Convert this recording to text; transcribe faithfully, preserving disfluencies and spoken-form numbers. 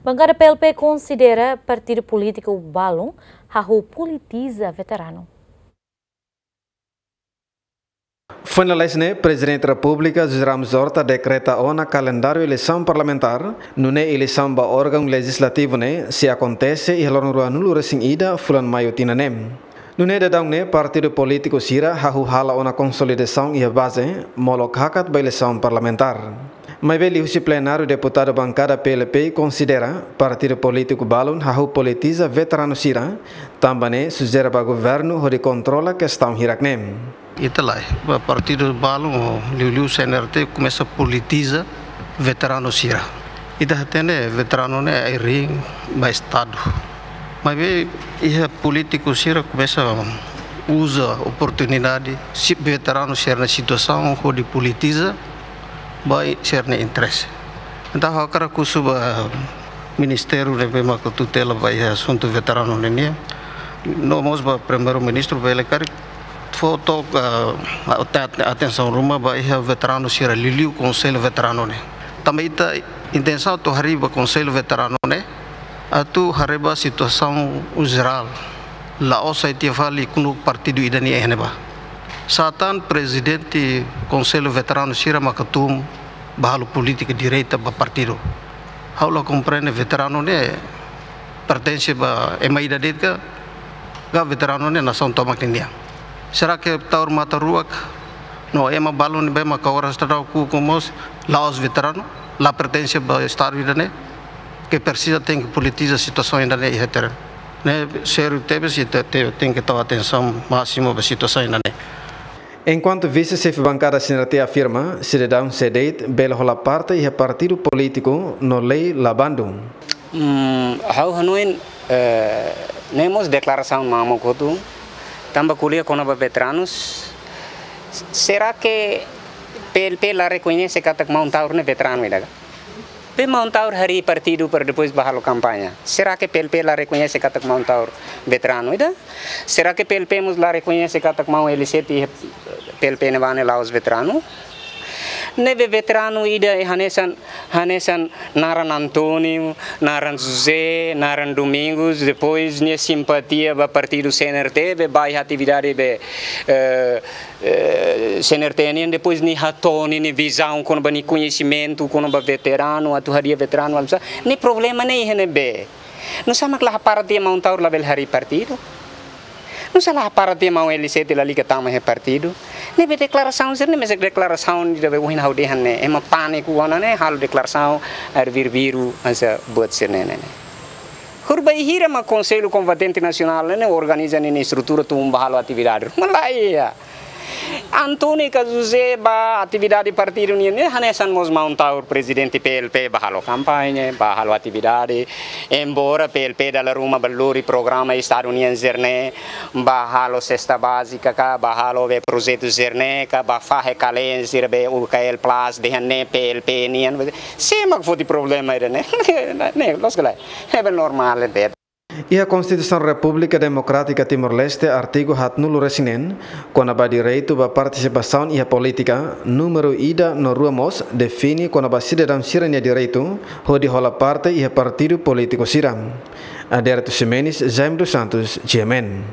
Bankada P L P konsidera partidu polítiku balun hahú politiza veteranu. Foin lalais ne'e, Prezidente Repúblika José Ramos Horta dekreta ona kalendáriu eleisaun parlamentár, nune'e eleisaun ba órgaun lejizlativu ne'e sei akontese iha loron ruanulu resin ida fulan Maiu tinan ne'e. Nune'e daudaun ne'e partidu polítiku sira hahú hala'o ona konsolidasaun iha baze, molok hakat ba eleisaun parlamentár. Maibé liuhusi plenáriu, deputadu bankada P L P konsidera partidu polítiku balun hahú politiza veteranu sira, tanba ne'e sujere ba governu hodi kontrola kestaun hirak ne'e. Ita lae, ba partidu balun, liuliu C N R T komesa politiza veteranu sira. Ita hatene veteranu ne'e ai-riin ba Estadu. Maibé iha polítiku sira komesa uza oportunidade, si veteranu sira-nia situasaun hodi politiza ba sira-nia interese. Entaun ha'u hakarak husu ba ministériu ne'ebé maka tutela ba iha asuntu veteranu ne'e nian, no mós ba Primeiru-Ministru, bele karik fó took, ah, ate-, atensaun ruma ba iha veteranu sira, liuliu Konsellu Veteranu ne'e. Tanba ita intensaun atu harii ba Konsellu Veteranu ne'e atu haree ba situasaun jerál, la'ós sai tiha fali knuuk partidu ida-ne'e iha ne'ebá. Sá tan prezidente Konsellu Veteranu sira maka tun ba halo polítika direta ba partidu. Ha'u la komprende, veteranu ne'e pertense ba ema ida de'it ka, ka veteranu ne'e nasaun tomak ninian? Será que Taur Matan Ruak no ema balun ne'ebé maka oras daudaun ukun mós la'ós veteranu, la pertense ba Estadu ida-ne'e, ke presiza tenke politiza situasaun ida-ne'e iha terrenu? Ne'e sériu tebes, ita te-, tenke tau atensaun másimu ba situasaun ida-ne'e. Enkuantu vise-xefe bankada C N R T afirma, sidadaun sé de'it bele hola parte iha partidu polítiku no lei la bandu. Hmm, ha'u hanoin, eh, ne'e mós deklarasaun mamuk hotu, tanba ko'alia kona-ba veteranus, será que P L P la rekoñese katak maun Taur ne'e veteranu ida ka? Be maun Taur harii partidu para depois ba halo kampaña. Será que P L P la rekoñese katak maun Taur veteranu ida? Será que P L P mós la rekoñese katak maun L C T P L P ne'ebá ne'e la'ós veteranu? Ne'ebé veteranu ida hanesan, hanesan naran António, naran José, naran Domingos, depois nia simpatia ba partidu C N R T, be ba iha atividade be, eh, eh, C N R T nian, depois nia hato'o nia, nia vizaun kona-ba nia koñesimentu kona-ba veteranu, atu hadi'a veteranu, alsa. Nia problema ne'e iha ne'ebé? Nusá mak la hapara tiha maun Taur labele harii partidu? Nusá la hapara tiha maun L C T lalika tama iha partidu? Ne'ebé deklarasaun sira-ne'e mesak deklarasaun ida be ohin ha'u dehan ne'e, ema pániku ona ne'e halo deklarasaun, air biru-biru, hanesan buat sira-ne'e ne'e. Horibainhira mak Konsellu Kombatente Nasionál ne'e organiza nia estrutura tun ba halo atividade ruma, lae. António ka José ba atividade partidu nian ne'e hanesan mós maun Taur prezidente P L P ba halo kampaña, ba halo atividade. Embora P L P dala ruma ba lori programa Estadu nian sira-ne'e, ba halo sesta bázika ka, ba halo be projetu sira-ne'e ka, ba fahe kalen sira be U K L Plus dehan ne'e P L P nian. Sé mak foti problema ida-ne'e? Ne'e, loos ka lae? Ne'ebé normál de'it. Iha Konstituisaun Repúblika Demokrátika Timor-Leste, artigu haatnulu-resin-neen, kona-ba direitu ba partisipasaun iha polítika, númeru ida no rua mós define kona-ba sidadaun sira-nia direitu hodi hola parte iha partidu polítiku sira. Adérito Ximenes, Jaime dos Santos, G M N.